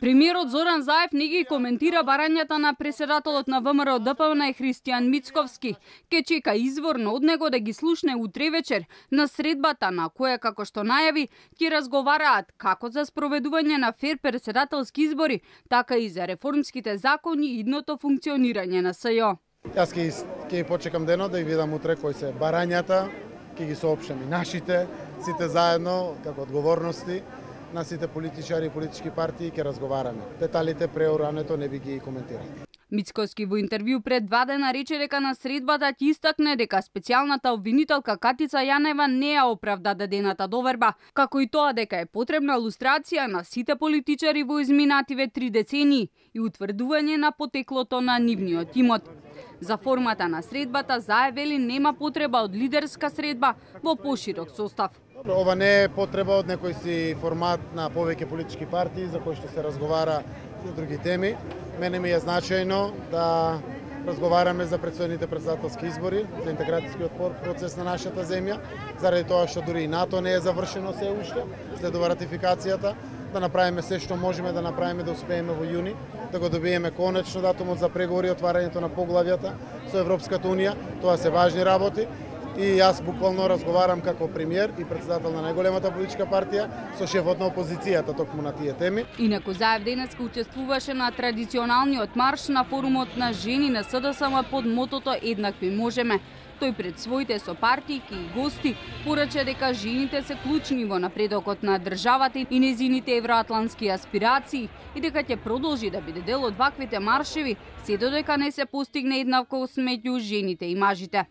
Премиерот Зоран Заев не ги коментира барањата на председателот на ВМРО ДПМН Христијан Мицковски. Ке чека изворно од него да ги слушне утре вечер на средбата на која, како што најави, ќе разговараат како за спроведување на фер председателски избори, така и за реформските закони и идното функционирање на СЈО. Јас ќе почекам денот да ги видам утре кои се барањата, ќе ги соопштам и нашите, сите заедно, како одговорности на сите политичари и политички партии ќе разговараме. Деталите преурането не би ги коментирал. Мицковски во интервју пред 2 дена рече дека на средбата ќе истакне дека специјалната обвинителка Катица Јанева не ја оправда дадената доверба, како и тоа дека е потребна лустрација на сите политичари во изминативе 3 децении и утврдување на потеклото на нивниот имот. За формата на средбата Заев вели нема потреба од лидерска средба во поширок состав. Ова не е потреба од некој си формат на повеќе политички партии за кои што се разговара за други теми. Мене ми е значајно да разговараме за предстојните председателски избори, за интеграцијскиот процес на нашата земја, заради тоа што дури и НАТО не е завршено се уште, следува ратификацијата, да направиме се што можеме да направиме да успееме во јуни, да го добиеме конечно датумот за преговори и отварањето на поглавјата со Европската унија. Тоа се важни работи. И јас буквално разговарам како премиер и председател на најголемата политичка партија со шефот на опозицијата токму на тие теми. Инаку Заев денеска учествуваше на традиционалниот марш на форумот на жени на СДСМ под мотото Еднакви можеме. Тој пред своите сопартијки и гости порача дека жените се клучни во напредокот на државата и незините евроатлантски аспирации и дека ќе продолжи да биде дел од ваквите маршеви се додека не се постигне еднаквост меѓу жените и мажите.